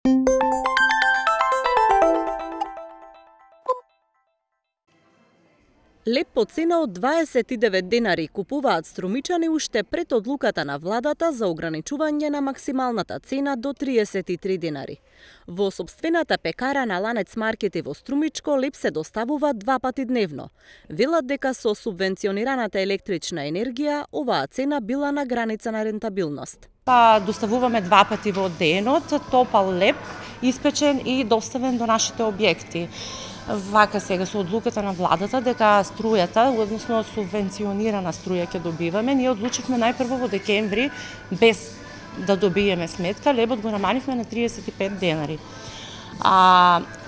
Леб по цена од 29 денари купуваат струмичани уште пред одлуката на владата за ограничување на максималната цена до 33 денари. Во сопствената пекара на Ланец маркети во Струмичко леб се доставува 2 пати дневно. Велат дека со субвенционираната електрична енергија оваа цена била на граница на рентабилност. Доставуваме 2 пати во денот топал леб, испечен и доставен до нашите објекти. Вака сега со одлуката на владата дека струјата, односно субвенционирана струја ќе добиваме, ние одлучивме најпрво во декември без да добиеме сметка, лебот го намаливме на 35 денари.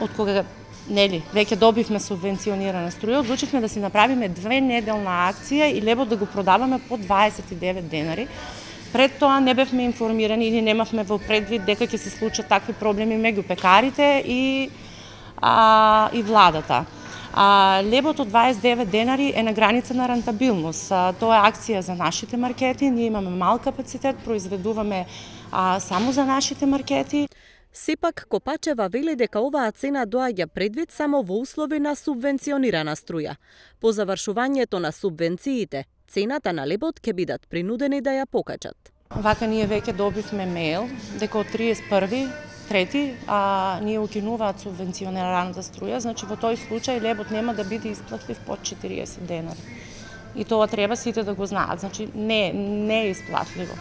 Од кога веќе добивме субвенционирана струја, одлучивме да си направиме 2-неделна акција и лебот да го продаваме по 29 денари. Пред тоа не бевме информирани или немавме во предвид дека ќе се случат такви проблеми меѓу пекарите и владата. Лебот од 29 денари е на граница на рентабилност. Тоа е акција за нашите маркети, ние имаме мал капацитет, произведуваме само за нашите маркети. Сепак Копачева вели дека оваа цена доаѓа предвид само во услови на субвенционирана струја. По завршувањето на субвенциите, цената на лебот ќе бидат принудени да ја покачат. Вака ние веќе добивме мејл дека од 31.3. ние укинуваат субвенционираната струја, значи во тој случај лебот нема да биде исплатлив под 40 денари. И тоа треба сите да го знаат, значи не е исплатливо.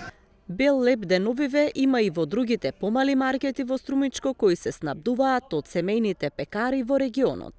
Бел леб деновиве има и во другите помали маркети во Струмичко кои се снабдуваат од семејните пекари во регионот.